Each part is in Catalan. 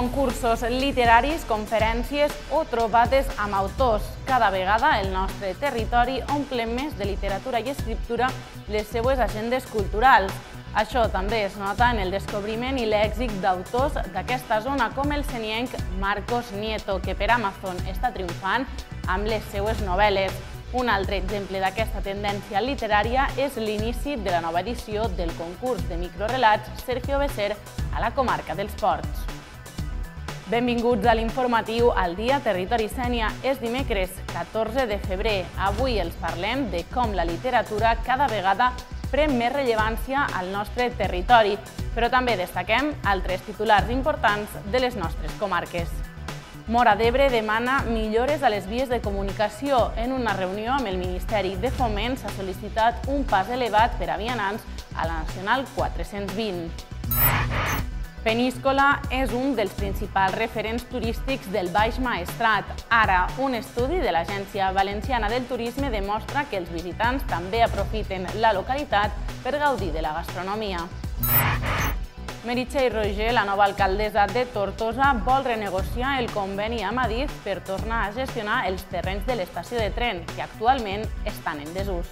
concursos literaris, conferències o trobades amb autors. Cada vegada el nostre territori omple més de literatura i escriptura les seues agendes culturals. Això també es nota en el descobriment i l'èxit d'autors d'aquesta zona, com el senienc Marcos Nieto, que per Amazon està triomfant amb les seues novel·les. Un altre exemple d'aquesta tendència literària és l'inici de la nova edició del concurs de microrelats Sergio Besser a la comarca dels Ports. Benvinguts a l'informatiu al Dia Territori Sénia. És dimecres 14 de febrer. Avui els parlem de com la literatura cada vegada pren més rellevància al nostre territori, però també destaquem altres titulars importants de les nostres comarques. Móra d'Ebre demana millores a les vies de comunicació. En una reunió amb el Ministeri de Foment s'ha sol·licitat un pas elevat per a vianants a la Nacional 420. Peníscola és un dels principals referents turístics del Baix Maestrat. Ara, un estudi de l'Agència Valenciana del Turisme demostra que els visitants també aprofiten la localitat per gaudir de la gastronomia. Meritxell Roger, la nova alcaldessa de Tortosa, vol renegociar el conveni amb Adif per tornar a gestionar els terrenys de l'estació de tren, que actualment estan en desús.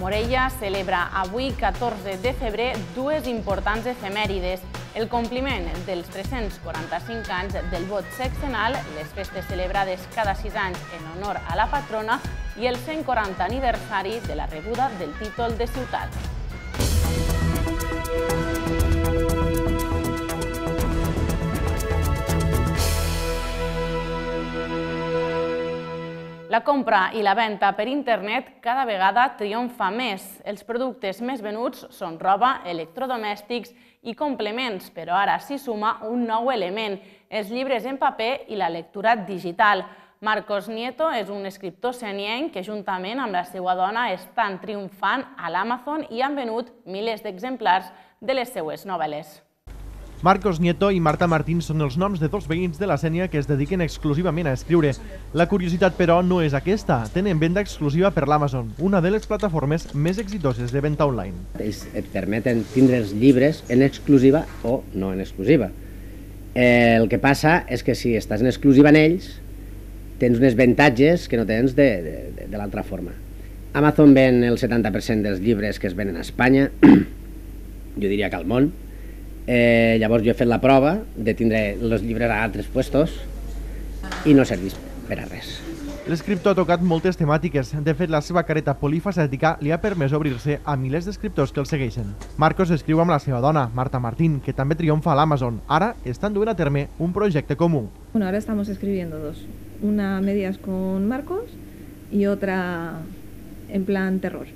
Morella celebra avui, 14 de febrer, dues importants efemèrides: el compliment dels 345 anys del vot sexenal, les festes celebrades cada 6 anys en honor a la patrona, i el 140 aniversari de la rebuda del títol de ciutat. La compra i la venda per internet cada vegada triomfa més. Els productes més venuts són roba, electrodomèstics i complements, però ara s'hi suma un nou element, els llibres en paper i la lectura digital. Marcos Nieto és un escriptor senienc que, juntament amb la seva dona, estan triomfant a l'Amazon i han venut milers d'exemplars de les seues novel·les. Marcos Nieto i Marta Martín són els noms de dos veïns de la Sénia que es dediquen exclusivament a escriure. La curiositat, però, no és aquesta. Tenen venda exclusiva per l'Amazon, una de les plataformes més exitoses de venda online. Ells et permeten tindre els llibres en exclusiva o no en exclusiva. El que passa és que si estàs en exclusiva en ells, tens uns avantatges que no tens de l'altra forma. Amazon ven el 70% dels llibres que es venen a Espanya, jo diria que al món. Llavors jo he fet la prova de tindre els llibres a altres puestos i no serveix per a res. L'escriptor ha tocat moltes temàtiques. De fet, la seva careta polifacètica li ha permès obrir-se a milers d'escriptors que el segueixen. Marcos escriu amb la seva dona, Marta Martín, que també triomfa a l'Amazon. Ara estan duent a terme un projecte comú. Bueno, ahora estamos escribiendo dos. Una a medias con Marcos y otra en plan terror.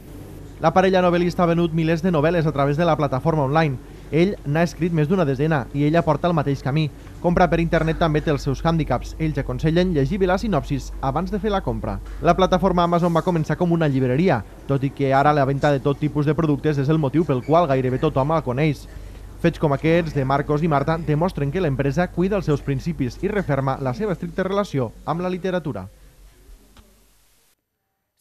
La parella novel·lista ha venut milers de novel·les a través de la plataforma online. Ell n'ha escrit més d'una desena i ella porta el mateix camí. Comprar per internet també té els seus hàndicaps. Ells aconsellen llegir bé la sinopsis abans de fer la compra. La plataforma Amazon va començar com una llibreria, tot i que ara la venda de tot tipus de productes és el motiu pel qual gairebé tothom la coneix. Fets com aquests de Marcos i Marta demostren que l'empresa cuida els seus principis i referma la seva estricta relació amb la literatura.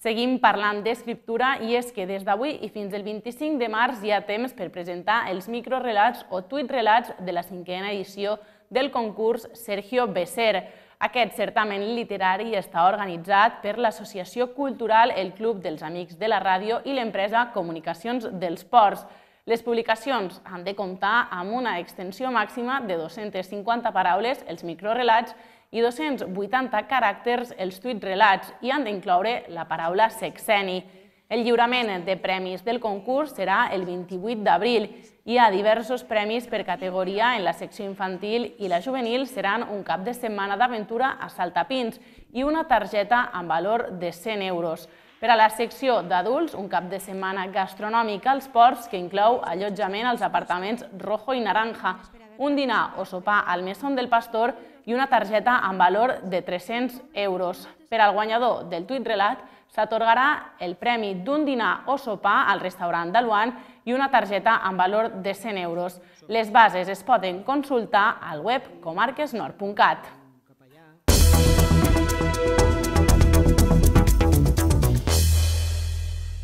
Seguim parlant d'escriptura i és que des d'avui i fins el 25 de març hi ha temps per presentar els microrelats o tuitrelats de la 5a edició del concurs Sergio Besser. Aquest certamen literari està organitzat per l'Associació Cultural El Club dels Amics de la Ràdio i l'empresa Comunicacions dels Ports. Les publicacions han de comptar amb una extensió màxima de 250 paraules, els microrelats, i 280 caràcters els tuitrelats i han d'incloure la paraula sexeni. El lliurament de premis del concurs serà el 28 d'abril. Hi ha diversos premis per categoria en la secció infantil i la juvenil seran un cap de setmana d'aventura a Saltapins i una targeta amb valor de 100 euros. Per a la secció d'adults, un cap de setmana gastronòmic als Ports que inclou allotjament als apartaments Rojo i Naranja, un dinar o sopar al Mesón del Pastor i una targeta amb valor de 300 euros. Per al guanyador del tuitrelat s'atorgarà el premi d'un dinar o sopar al restaurant d'Aluan i una targeta amb valor de 100 euros. Les bases es poden consultar al web comarquesnord.cat.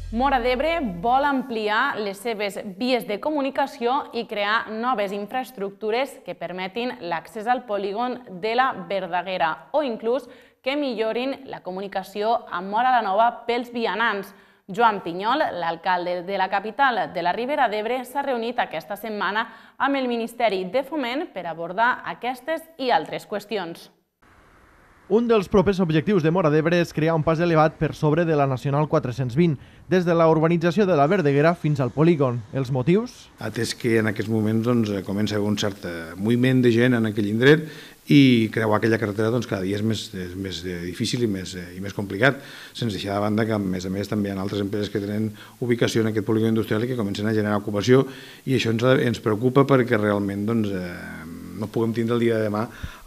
Móra d'Ebre vol ampliar les seves vies de comunicació i crear noves infraestructures que permetin l'accés al polígon de la Verdaguera o inclús que millorin la comunicació amb Móra la Nova pels vianants. Joan Pinyol, l'alcalde de la capital de la Ribera d'Ebre, s'ha reunit aquesta setmana amb el Ministeri de Foment per abordar aquestes i altres qüestions. Un dels propers objectius de Móra d'Ebre és crear un pas elevat per sobre de la Nacional 420, des de la urbanització de la Verdaguera fins al polígon. Els motius? Atès que en aquests moments comença a haver un cert moviment de gent en aquell indret i creuar aquella carretera cada dia és més difícil i més complicat, sense deixar de banda que a més també hi ha altres empreses que tenen ubicació en aquest polígon industrial i que comencen a generar ocupació, i això ens preocupa perquè realment no puguem tindre el dia de demà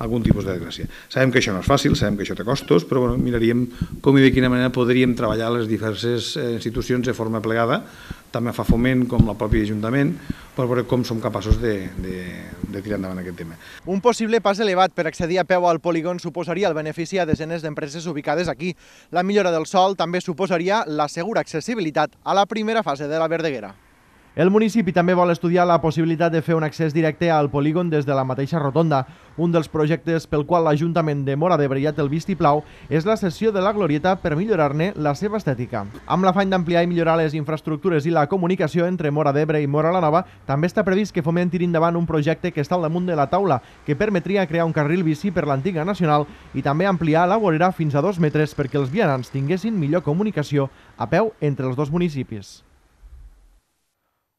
algun tipus de desgràcia. Sabem que això no és fàcil, sabem que això té costos, però miraríem com i de quina manera podríem treballar les diverses institucions de forma plegada, també fa Foment com el propi Ajuntament, per veure com som capaços de tirar endavant aquest tema. Un possible pas elevat per accedir a peu al polígon suposaria el benefici a desenes d'empreses ubicades aquí. La millora del sòl també suposaria la segura accessibilitat a la primera fase de la Verdaguera. El municipi també vol estudiar la possibilitat de fer un accés directe al polígon des de la mateixa rotonda. Un dels projectes pel qual l'Ajuntament de Móra d'Ebre ja té el vistiplau és la cessió de la glorieta per millorar-ne la seva estètica. Amb l'afany d'ampliar i millorar les infraestructures i la comunicació entre Móra d'Ebre i Móra la Nova, també està previst que Foment tiri endavant un projecte que està al damunt de la taula, que permetria crear un carril bici per l'antiga Nacional i també ampliar la vorera fins a 2 metres perquè els vianants tinguessin millor comunicació a peu entre els dos municipis.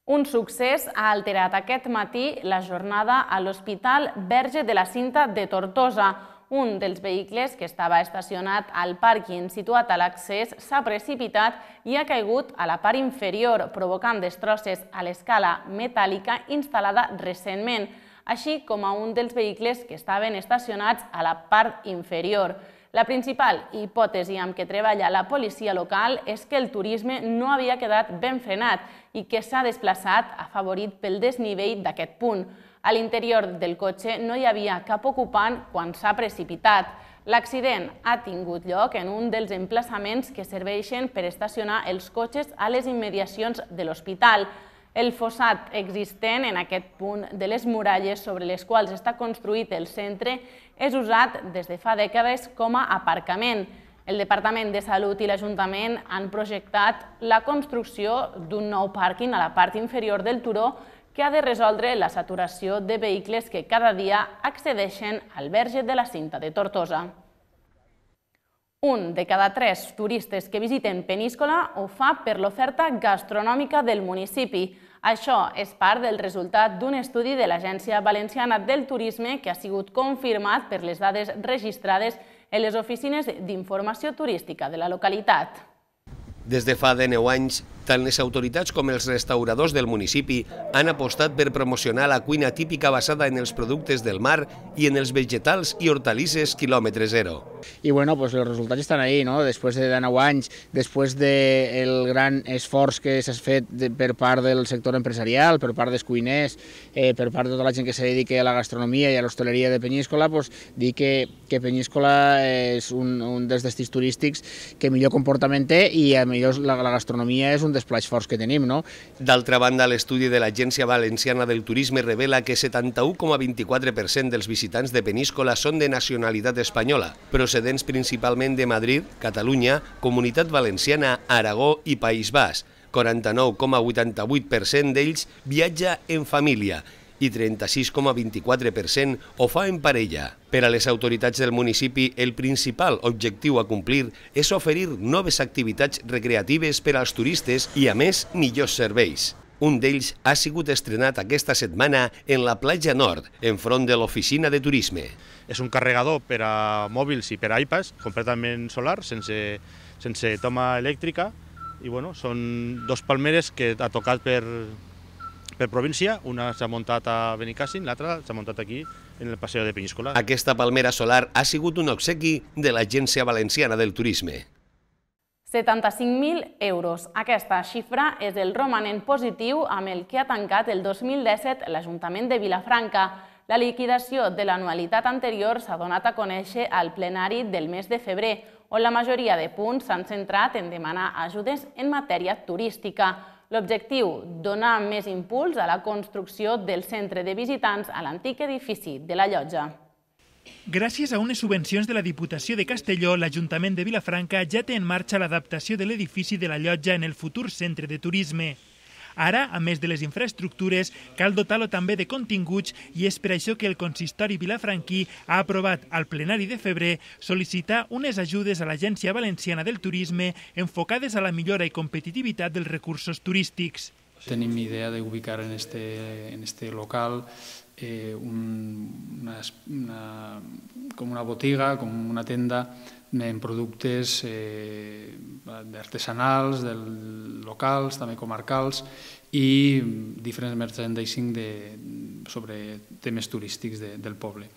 Un succés ha alterat aquest matí la jornada a l'Hospital Verge de la Cinta de Tortosa. Un dels vehicles que estava estacionat al pàrquing situat a l'accés s'ha precipitat i ha caigut a la part inferior, provocant destrosses a l'escala metàl·lica instal·lada recentment, així com a un dels vehicles que estaven estacionats a la part inferior. La principal hipòtesi amb què treballa la policia local és que el turisme no havia quedat ben frenat i que s'ha desplaçat afavorit pel desnivell d'aquest punt. A l'interior del cotxe no hi havia cap ocupant quan s'ha precipitat. L'accident ha tingut lloc en un dels emplaçaments que serveixen per estacionar els cotxes a les immediacions de l'hospital. El fossat existent en aquest punt de les muralles sobre les quals està construït el centre és usat des de fa dècades com a aparcament. El Departament de Salut i l'Ajuntament han projectat la construcció d'un nou pàrquing a la part inferior del turó que ha de resoldre la saturació de vehicles que cada dia accedeixen al Verge de la Cinta de Tortosa. Un de cada 3 turistes que visiten Peníscola ho fa per l'oferta gastronòmica del municipi. Això és part del resultat d'un estudi de l'Agència Valenciana del Turisme que ha sigut confirmat per les dades registrades en les oficines d'informació turística de la localitat. Des de fa 19 anys, tant les autoritats com els restauradors del municipi han apostat per promocionar la cuina típica basada en els productes del mar i en els vegetals i hortalisses quilòmetre zero. I bueno, pues els resultats estan ahí, ¿no? Després de 9 anys, després del gran esforç que s'ha fet per part del sector empresarial, per part dels cuiners, per part de tota la gent que se dedica a la gastronomia i a l'hostaleria de Peníscola, pues, dir que Peníscola és un dels destins turístics que millor comportament té i a millor la gastronomia és un dels plats forts que tenim, no? D'altra banda, l'estudi de l'Agència Valenciana del Turisme revela que 71,24% dels visitants de Peníscola són de nacionalitat espanyola, procedents principalment de Madrid, Catalunya, Comunitat Valenciana, Aragó i País Basc. 49,88% d'ells viatja en família i 36,24% ho fa en parella. Per a les autoritats del municipi, el principal objectiu a complir és oferir noves activitats recreatives per als turistes i, a més, millors serveis. Un d'ells ha sigut estrenat aquesta setmana en la platja nord, enfront de l'oficina de turisme. És un carregador per a mòbils i per a iPads, completament solar, sense toma elèctrica, i són 2 palmeres que ha tocat per província. Una s'ha muntat a Benicàssim, l'altra s'ha muntat aquí, en el Passeig de Peníscola. Aquesta palmera solar ha sigut un obsequi de l'Agència Valenciana del Turisme. 75.000 euros. Aquesta xifra és el romanent positiu amb el que ha tancat el 2017 l'Ajuntament de Vilafranca. La liquidació de l'anualitat anterior s'ha donat a conèixer al plenari del mes de febrer, on la majoria de punts s'han centrat en demanar ajudes en matèria turística. L'objectiu, donar més impuls a la construcció del centre de visitants a l'antic edifici de la Llotja. Gràcies a unes subvencions de la Diputació de Castelló, l'Ajuntament de Vilafranca ja té en marxa l'adaptació de l'edifici de la Llotja en el futur centre de turisme. Ara, a més de les infraestructures, cal dotar-lo també de continguts i és per això que el consistori vilafranquí ha aprovat al plenari de febrer sol·licitar unes ajudes a l'Agència Valenciana del Turisme enfocades a la millora i competitivitat dels recursos turístics. Tenim idea d'ubicar en este local com una botiga, com una tenda en productes artesanals, locals, també comarcals, i diferents merchandising sobre temes turístics del poble.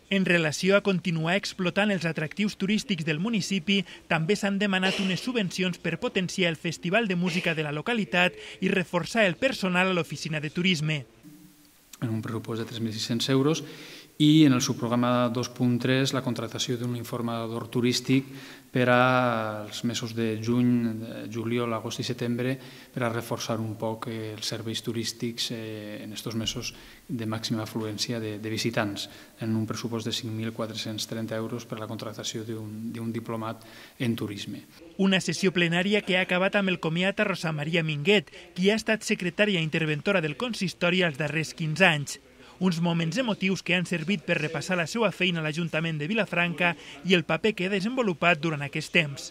En relació a continuar explotant els atractius turístics del municipi, també s'han demanat unes subvencions per potenciar el Festival de Música de la localitat i reforçar el personal a l'oficina de turisme. En un pressupost de 3.600 euros, i en el subprograma 2.3 la contractació d'un informador turístic per als mesos de juny, juliol, agost i setembre per a reforçar un poc els serveis turístics en aquests mesos de màxima afluència de visitants, en un pressupost de 5.430 euros per a la contractació d'un diplomat en turisme. Una sessió plenària que ha acabat amb el comiat a Rosa Maria Minguet, qui ha estat secretària interventora del consistori els darrers 15 anys. Uns moments emotius que han servit per repassar la seva feina a l'Ajuntament de Vilafranca i el paper que ha desenvolupat durant aquest temps.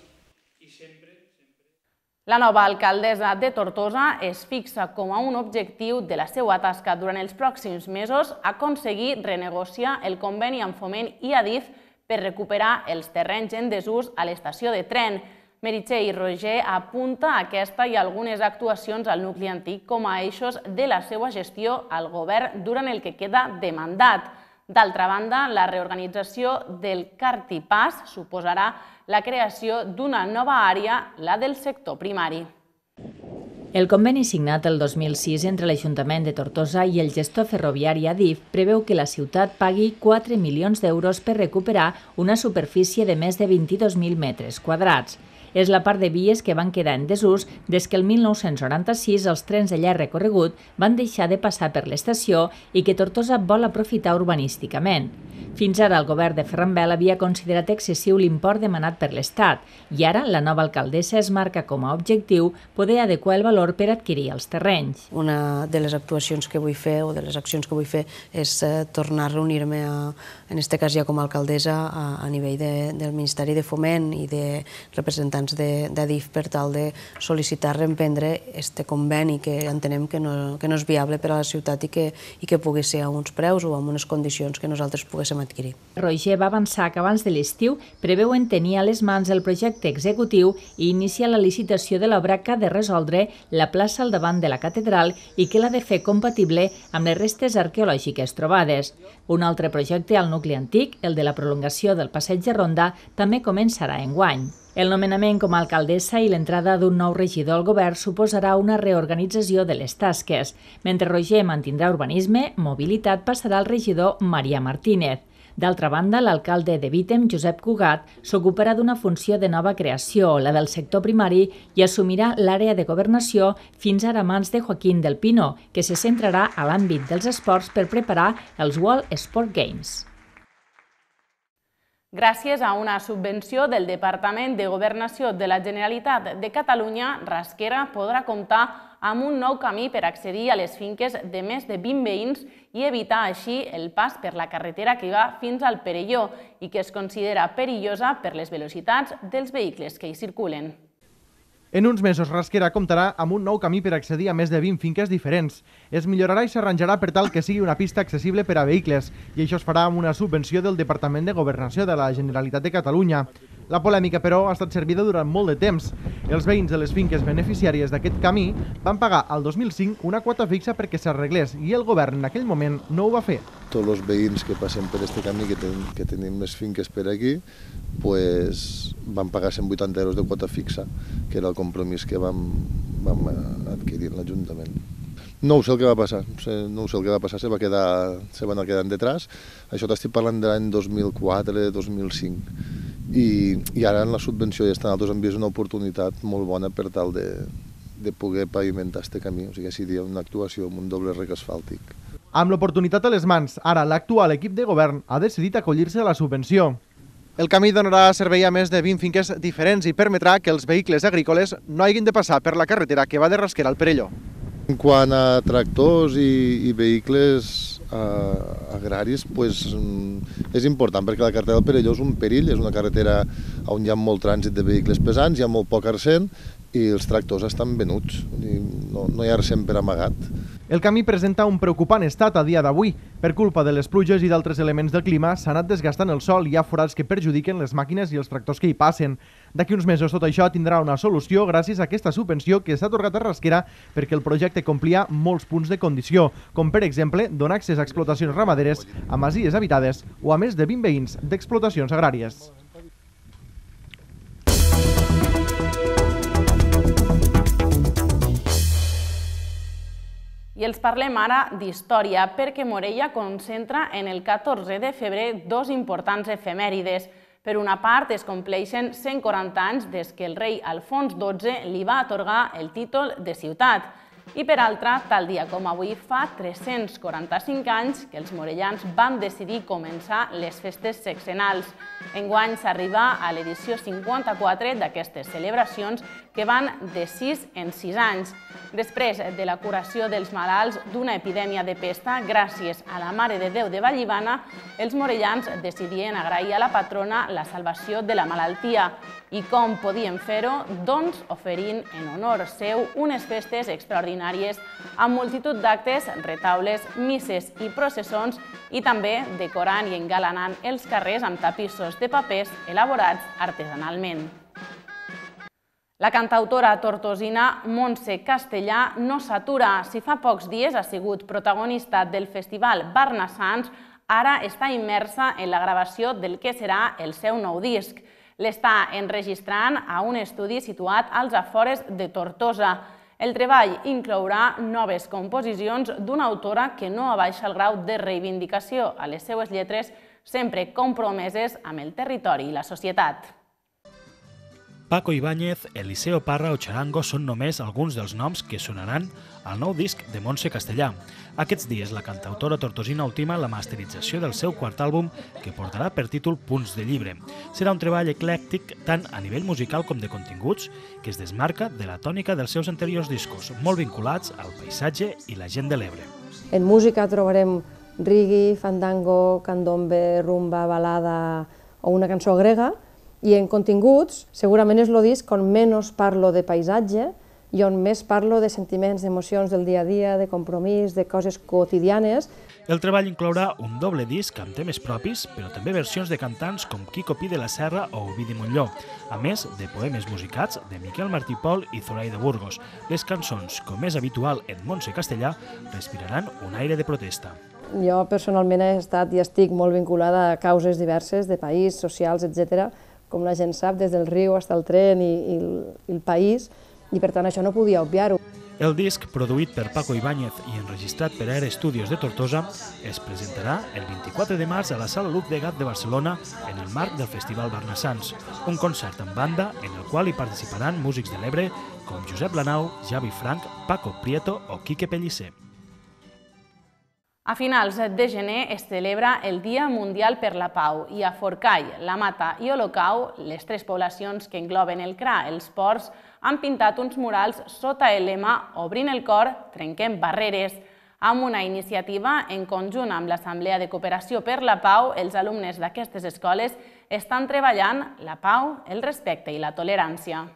La nova alcaldessa de Tortosa es fixa com a un objectiu de la seva tasca durant els pròxims mesos aconseguir renegociar el conveni amb Foment i Adif per recuperar els terrenys en desús a l'estació de tren. Meritxell Roger apunta aquesta i algunes actuacions al nucli antic com a eixos de la seva gestió al govern durant el que queda de mandat. D'altra banda, la reorganització del Cartipàs suposarà la creació d'una nova àrea, la del sector primari. El conveni signat el 2006 entre l'Ajuntament de Tortosa i el gestor ferroviari Adif preveu que la ciutat pagui 4 milions d'euros per recuperar una superfície de més de 22.000 metres quadrats. És la part de vies que van quedar en desús des que el 1996 els trens de llarg recorregut van deixar de passar per l'estació i que Tortosa vol aprofitar urbanísticament. Fins ara el govern de Ferran Bel havia considerat excessiu l'import demanat per l'Estat i ara la nova alcaldessa es marca com a objectiu poder adequar el valor per adquirir els terrenys. Una de les actuacions que vull fer o de les accions que vull fer és tornar a reunir-me, en aquest cas ja com a alcaldessa, a nivell del Ministeri de Foment i de representants d'Adif per tal de sol·licitar reemprendre aquest conveni que entenem que no és viable per a la ciutat i que pugui ser a uns preus o amb unes condicions que nosaltres poguéssim adquirir. Roger va avançar que abans de l'estiu preveuen tenir a les mans el projecte executiu i iniciar la licitació de l'obra que ha de resoldre la plaça al davant de la catedral i que l'ha de fer compatible amb les restes arqueològiques trobades. Un altre projecte al nucli antic, el de la prolongació del passeig de Ronda, també començarà enguany. El nomenament com a alcaldessa i l'entrada d'un nou regidor al govern suposarà una reorganització de les tasques. Mentre Roger mantindrà urbanisme, mobilitat passarà al regidor Maria Martínez. D'altra banda, l'alcalde de Vítem, Josep Cugat, s'ocuparà d'una funció de nova creació, la del sector primari, i assumirà l'àrea de governació fins ara a mans de Joaquín del Pino, que se centrarà a l'àmbit dels esports per preparar els World Sport Games. Gràcies a una subvenció del Departament de Governació de la Generalitat de Catalunya, Rasquera podrà comptar amb un nou camí per accedir a les finques de més de 20 veïns i evitar així el pas per la carretera que va fins al Perelló i que es considera perillosa per les velocitats dels vehicles que hi circulen. En uns mesos, Rasquera comptarà amb un nou camí per accedir a més de 20 finques diferents. Es millorarà i s'arranjarà per tal que sigui una pista accessible per a vehicles, i això es farà amb una subvenció del Departament de Governació de la Generalitat de Catalunya. La polèmica, però, ha estat servida durant molt de temps. Els veïns de les finques beneficiàries d'aquest camí van pagar al 2005 una quota fixa perquè s'arreglés i el govern en aquell moment no ho va fer. Tots els veïns que passem per aquest camí, que tenim les finques per aquí, van pagar 180 euros de quota fixa, que era el compromís que vam adquirir en l'Ajuntament. No sé el que va passar, se va anar quedant detrás. Això t'estic parlant de l'any 2004, 2005. i ara en la subvenció i estan altres han vist una oportunitat molt bona per tal de poder pavimentar aquest camí, o sigui, seria una actuació amb un doble rec asfàltic. Amb l'oportunitat a les mans, ara l'actual equip de govern ha decidit acollir-se a la subvenció. El camí donarà servei a més de 20 finques diferents i permetrà que els vehicles agrícoles no hagin de passar per la carretera que va de Rasquera al Perelló. En quant a tractors i vehicles agraris, és important perquè la carretera del Perelló és un perill, és una carretera on hi ha molt trànsit de vehicles pesants, hi ha molt poc arsèn i els tractors estan venuts, no hi ha arsèn per amagat. El camí presenta un preocupant estat a dia d'avui. Per culpa de les pluges i d'altres elements del clima s'ha anat desgastant el sòl i hi ha forats que perjudiquen les màquines i els tractors que hi passen. D'aquí uns mesos tot això tindrà una solució gràcies a aquesta subvenció que s'ha atorgat a Rasquera perquè el projecte complia molts punts de condició, com per exemple donar accés a explotacions ramaderes, a masies habitades o a més de 20 veïns d'explotacions agràries. I els parlem ara d'història, perquè Morella concentra en el 14 de febrer dos importants efemèrides. Per una part, es compleixen 140 anys des que el rei Alfons XII li va atorgar el títol de ciutat. I per altra, tal dia com avui, fa 345 anys que els morellans van decidir començar les festes sexenals. Enguany s'arriba a l'edició 54 d'aquestes celebracions que van de 6 en 6 anys. Després de la curació dels malalts d'una epidèmia de pesta, gràcies a la Mare de Déu de Vallivana, els morellans decidien agrair a la patrona la salvació de la malaltia. I com podien fer-ho? Doncs oferint en honor seu unes festes extraordinàries amb multitud d'actes, retaules, misses i processons i també decorant i engalanant els carrers amb tapissos de papers elaborats artesanalment. La cantautora tortosina Montse Castellà no s'atura. Si fa pocs dies ha sigut protagonista del festival Barnassans, ara està immersa en la gravació del que serà el seu nou disc. L'està enregistrant a un estudi situat als afores de Tortosa. El treball inclourà noves composicions d'una autora que no abaixa el grau de reivindicació a les seues lletres, sempre compromeses amb el territori i la societat. Paco Ibáñez, Eliseo Parra o Charango són només alguns dels noms que sonaran al nou disc de Montse Castellà. Aquests dies la cantautora tortosina ultima la masterització del seu quart àlbum que portarà per títol Punts de Llibre. Serà un treball eclèctic tant a nivell musical com de continguts que es desmarca de la tònica dels seus anteriors discos, molt vinculats al paisatge i la gent de l'Ebre. En música trobarem reggae, fandango, candombe, rumba, balada o una cançó grega, i en continguts segurament és el disc on menys parlo de paisatge i on més parlo de sentiments, d'emocions del dia a dia, de compromís, de coses quotidianes. El treball inclourà un doble disc amb temes propis, però també versions de cantants com Quico Pi de la Serra o Ovidi Montllor, a més de poemes musicats de Miquel Martí Pol i Zoraida Burgos. Les cançons, com és habitual en Montse Castellà, respiraran un aire de protesta. Jo personalment he estat i estic molt vinculada a causes diverses de país, socials, etc., com la gent sap, des del riu fins al tren i el país, i per tant això no podia obviar-ho. El disc, produït per Paco Ibáñez i enregistrat per Aire Studios de Tortosa, es presentarà el 24 de març a la Sala Luz de Gat de Barcelona en el marc del Festival Barnassans, un concert en banda en el qual hi participaran músics de l'Ebre com Josep Lanau, Javi Frank, Paco Prieto o Quique Pellicer. A finals de gener es celebra el Dia Mundial per la Pau i a Forcall, La Mata i Olocau, les tres poblacions que engloben el CRA, els ports, han pintat uns murals sota el lema Obrint el cor, trenquem barreres. Amb una iniciativa en conjunt amb l'Assemblea de Cooperació per la Pau, els alumnes d'aquestes escoles estan treballant la pau, el respecte i la tolerància.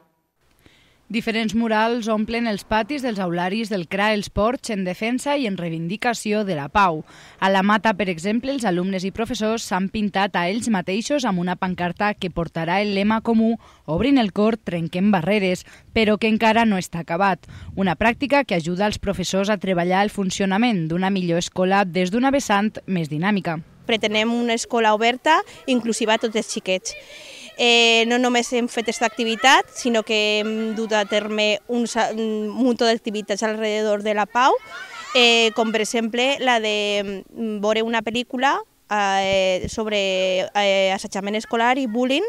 Diferents murals omplen els patis dels aularis del CRA Els Ports en defensa i en reivindicació de la pau. A La Mata, per exemple, els alumnes i professors s'han pintat a ells mateixos amb una pancarta que portarà el lema comú Obrint el cor, trenquem barreres, però que encara no està acabat. Una pràctica que ajuda els professors a treballar el funcionament d'una millor escola des d'una vessant més dinàmica. Pretenem una escola oberta, inclusiva a tots els xiquets. No només hem fet aquesta activitat, sinó que hem dut a terme un munt d'activitats alrededor de la pau, com per exemple la de veure una pel·lícula sobre assetjament escolar i bullying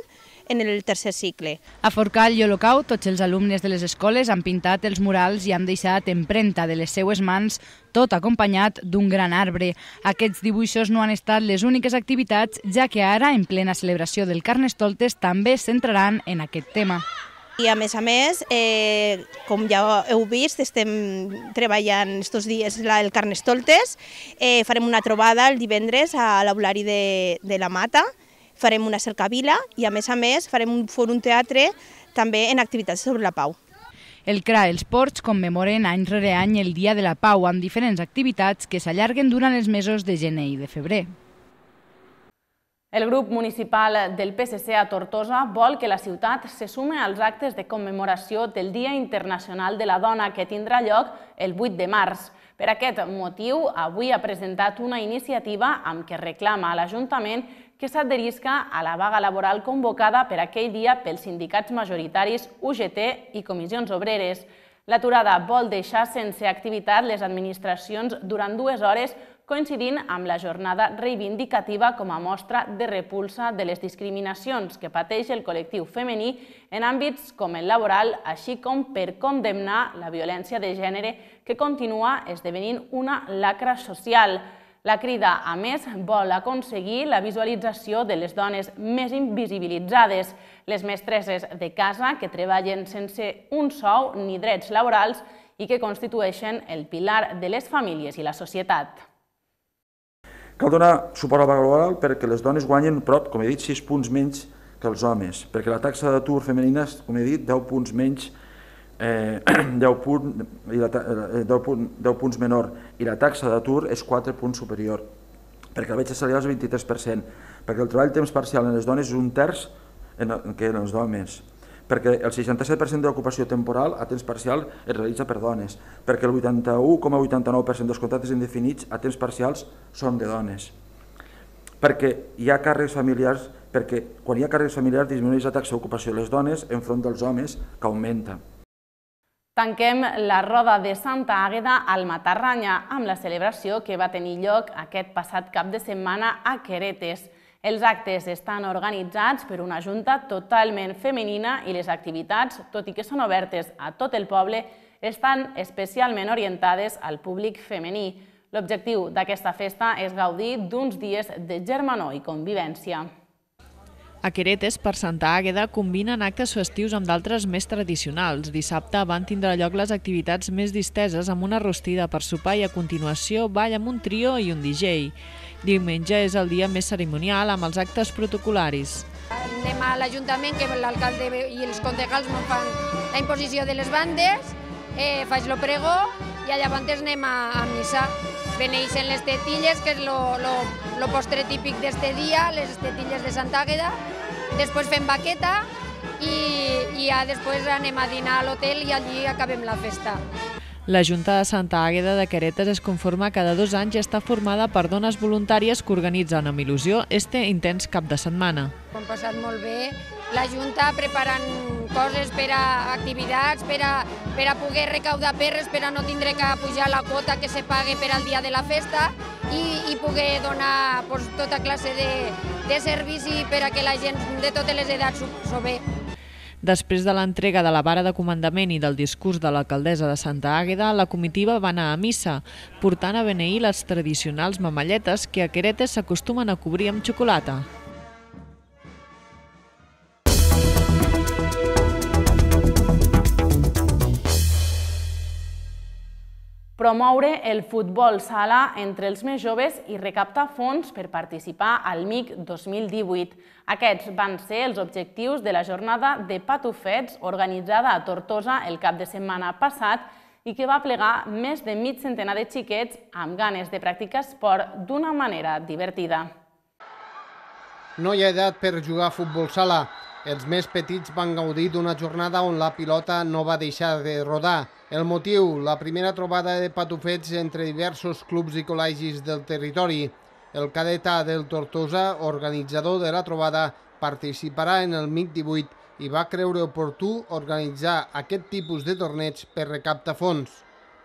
en el tercer cicle. A Forcall i Olocau, tots els alumnes de les escoles han pintat els murals i han deixat empremta de les seues mans, tot acompanyat d'un gran arbre. Aquests dibuixos no han estat les úniques activitats, ja que ara, en plena celebració del Carnestoltes, també es centraran en aquest tema. I a més, com ja heu vist, estem treballant aquests dies el Carnestoltes, farem una trobada el divendres a l'Aulari de la Mata, farem una cercavila i a més farem un fòrum teatre també en activitats sobre la pau. El CRA i els Ports commemoren any rere any el Dia de la Pau amb diferents activitats que s'allarguen durant els mesos de gener i de febrer. El grup municipal del PSC a Tortosa vol que la ciutat se sume als actes de commemoració del Dia Internacional de la Dona que tindrà lloc el 8 de març. Per aquest motiu, avui ha presentat una iniciativa amb què reclama a l'Ajuntament que s'adherisca a la vaga laboral convocada per aquell dia pels sindicats majoritaris UGT i Comissions Obreres. L'aturada vol deixar sense activitat les administracions durant 2 hores, coincidint amb la jornada reivindicativa com a mostra de repulsa de les discriminacions que pateix el col·lectiu femení en àmbits com el laboral, així com per condemnar la violència de gènere que continua esdevenint una lacra social. La Crida, a més, vol aconseguir la visualització de les dones més invisibilitzades, les mestresses de casa que treballen sense un sou ni drets laborals i que constitueixen el pilar de les famílies i la societat. Cal donar suport a la vaga laboral perquè les dones guanyen prop, com he dit, 6 punts menys que els homes, perquè la taxa d'atur femenina és, com he dit, 10 punts menys, 10 punts menor, i la taxa d'atur és 4 punts superior, perquè la bretxa salarial és el 23%, perquè el treball temps parcial en les dones és 1/3 que en els homes, perquè el 67% de l'ocupació temporal a temps parcial es realitza per dones, perquè el 81,89% dels contractes indefinits a temps parcials són de dones, perquè hi ha càrrecs familiars, perquè quan hi ha càrrecs familiars disminueix la taxa d'ocupació de les dones enfront dels homes, que augmenta. Tanquem la roda de Santa Àgueda al Matarranya amb la celebració que va tenir lloc aquest passat cap de setmana a Queretes. Els actes estan organitzats per una junta totalment femenina i les activitats, tot i que són obertes a tot el poble, estan especialment orientades al públic femení. L'objectiu d'aquesta festa és gaudir d'uns dies de germanor i convivència. A Queretes, per Santa Àgueda, combinen actes festius amb d'altres més tradicionals. Dissabte van tindre lloc les activitats més disteses amb una rostida per sopar i a continuació ball amb un trio i un DJ. Diumenge és el dia més cerimonial amb els actes protocolaris. Anem a l'Ajuntament, que l'alcalde i els concejals fan la imposició de les bandes, faig el pregó i llavors anem a missa. Beneixen les tetilles, que és el postre típic d'este dia, les tetilles de Santa Àgueda. Després fem baqueta i ja després anem a dinar a l'hotel i allí acabem la festa. La Junta de Santa Àgueda de Queretes es conforma cada 2 anys i està formada per dones voluntàries que organitzen amb il·lusió este intens cap de setmana. Ho hem passat molt bé. La Junta preparant coses per a activitats, per a poder recaudar perres, per a no tindre que pujar la quota que se pague per al dia de la festa i poder donar tota classe de servici per a que la gent de totes les edats s'ho ve. Després de l'entrega de la vara de comandament i del discurs de l'alcaldessa de Santa Àgueda, la comitiva va anar a missa, portant a beneir les tradicionals mamalletes que a Queretes s'acostumen a cobrir amb xocolata. Promoure el futbol sala entre els més joves i recaptar fons per participar al MIC 2018. Aquests van ser els objectius de la jornada de patufets organitzada a Tortosa el cap de setmana passat i que va plegar més de mig centenar de xiquets amb ganes de practicar esport d'una manera divertida. No hi ha edat per jugar a futbol sala. Els més petits van gaudir d'una jornada on la pilota no va deixar de rodar. El motiu, la primera trobada de patufets entre diversos clubs i col·legis del territori. El cadetà del Tortosa, organitzador de la trobada, participarà en el MIC 18 i va creure oportú organitzar aquest tipus de torneig per recaptar fons.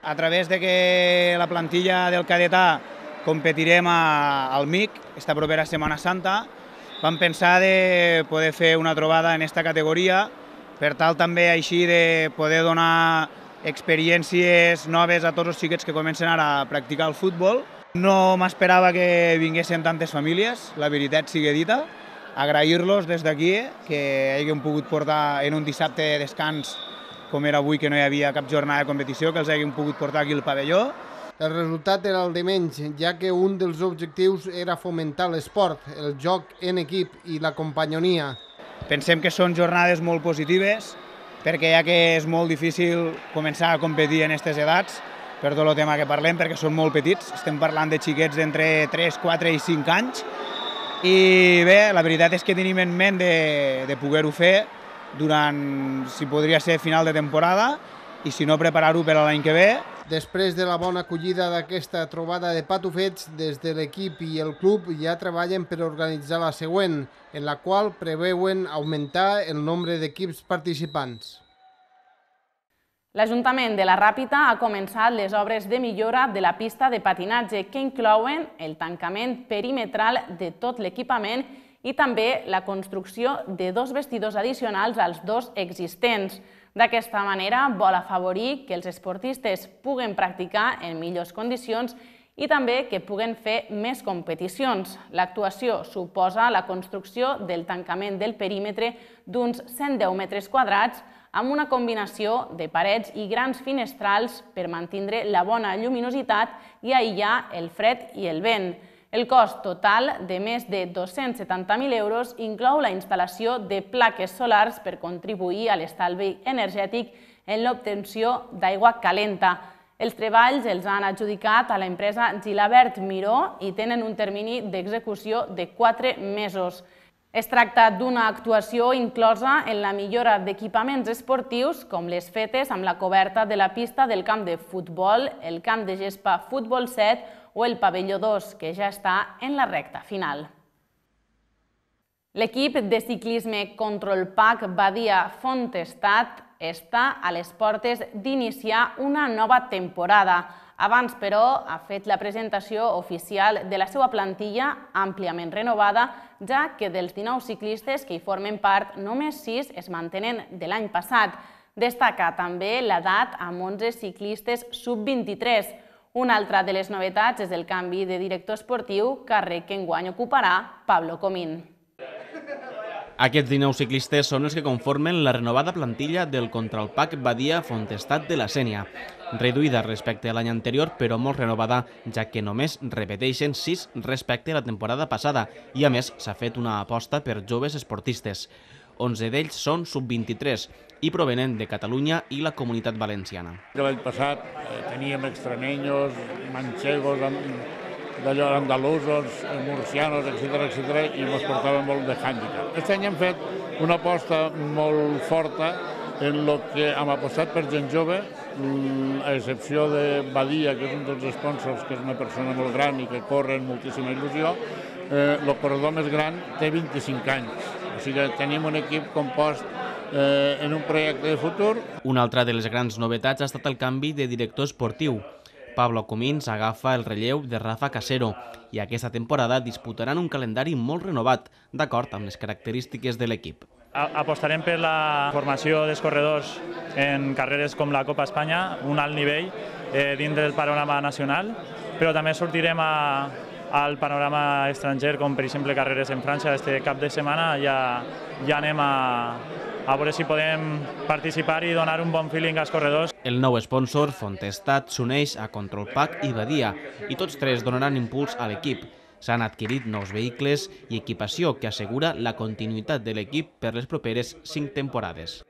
A través de que la plantilla del cadetà competirem al MIC, esta propera Setmana Santa, vam pensar de poder fer una trobada en aquesta categoria, per tal també així de poder donar experiències noves a tots els xiquets que comencen ara a practicar el futbol. No m'esperava que vinguessin tantes famílies, la veritat sigui dita. Agrair-los des d'aquí, que hagin pogut portar en un dissabte de descans, com era avui, que no hi havia cap jornada de competició, que els hagin pogut portar aquí al pavelló. El resultat era el de menys, ja que un dels objectius era fomentar l'esport, el joc en equip i la companyonia. Pensem que són jornades molt positives, perquè ja que és molt difícil començar a competir en aquestes edats, per tot el tema que parlem, perquè són molt petits, estem parlant de xiquets d'entre 3, 4 i 5 anys, i bé, la veritat és que tenim en ment de poder-ho fer durant, si podria ser, final de temporada, i si no, preparar-ho per a l'any que ve. Després de la bona acollida d'aquesta trobada de patufets, des de l'equip i el club ja treballen per organitzar la següent, en la qual preveuen augmentar el nombre d'equips participants. L'Ajuntament de la Ràpita ha començat les obres de millora de la pista de patinatge, que inclouen el tancament perimetral de tot l'equipament i també la construcció de 2 vestidors addicionals als 2 existents. D'aquesta manera vol afavorir que els esportistes puguen practicar en millors condicions i també que puguen fer més competicions. L'actuació suposa la construcció del tancament del perímetre d'uns 110 metres quadrats amb una combinació de parets i grans finestrals per mantenir la bona lluminositat i aïllar el fred i el vent. El cost total de més de 270.000 euros inclou la instal·lació de plaques solars per contribuir a l'estalvi energètic en l'obtenció d'aigua calenta. Els treballs els han adjudicat a l'empresa Gilabert Miró i tenen un termini d'execució de 4 mesos. Es tracta d'una actuació inclosa en la millora d'equipaments esportius, com les fetes amb la coberta de la pista del camp de futbol, el camp de gespa Futbol 7 o el pavelló 2, que ja està en la recta final. L'equip de ciclisme Control Pack Badia Fontestat està a les portes d'iniciar una nova temporada. Abans, però, ha fet la presentació oficial de la seva plantilla àmpliament renovada, ja que dels 19 ciclistes que hi formen part, només 6 es mantenen de l'any passat. Destaca també l'edat amb 11 ciclistes sub-23. Una altra de les novetats és el canvi de director esportiu, càrrec que enguany ocuparà Pablo Comín. Aquests 19 ciclistes són els que conformen la renovada plantilla del Contralpac Badia Fontestat de la Sénia, reduïda respecte a l'any anterior però molt renovada, ja que només repeteixen 6 respecte a la temporada passada i a més s'ha fet una aposta per joves esportistes. 11 d'ells són sub-23 i provenen de Catalunya i la Comunitat Valenciana. L'any passat teníem extremeños, manchegos, d'allò andalusos, murcianos, etc. i ens portaven molt de hàndicap. Aquest any hem fet una aposta molt forta en el que hem apostat per gent jove, a excepció de Badia, que és un dels sponsors, que és una persona molt gran i que corre amb moltíssima il·lusió. El corredor més gran té 25 anys, o sigui que tenim un equip compost en un projecte de futur. Una altra de les grans novetats ha estat el canvi de director esportiu. Pablo Comín agafa el relleu de Rafa Casero i aquesta temporada disputaran un calendari molt renovat, d'acord amb les característiques de l'equip. Apostarem per la formació dels corredors en carreres com la Copa Espanya, un alt nivell dins del panorama nacional, però també sortirem al panorama estranger, com per exemple carreres en França. Este cap de setmana ja anem a veure si podem participar i donar un bon feeling als corredors. El nou sponsor, Fontestat, s'uneix a Control Pack i Badia i tots tres donaran impuls a l'equip. S'han adquirit nous vehicles i equipació que assegura la continuïtat de l'equip per les properes 5 temporades.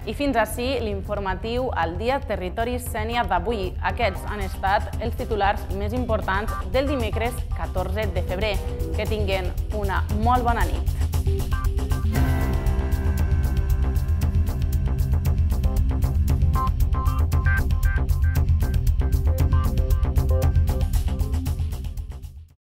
I fins ací l'informatiu al Dia Territori Sénia d'avui. Aquests han estat els titulars més importants del dimecres 14 de febrer. Que tinguen una molt bona nit.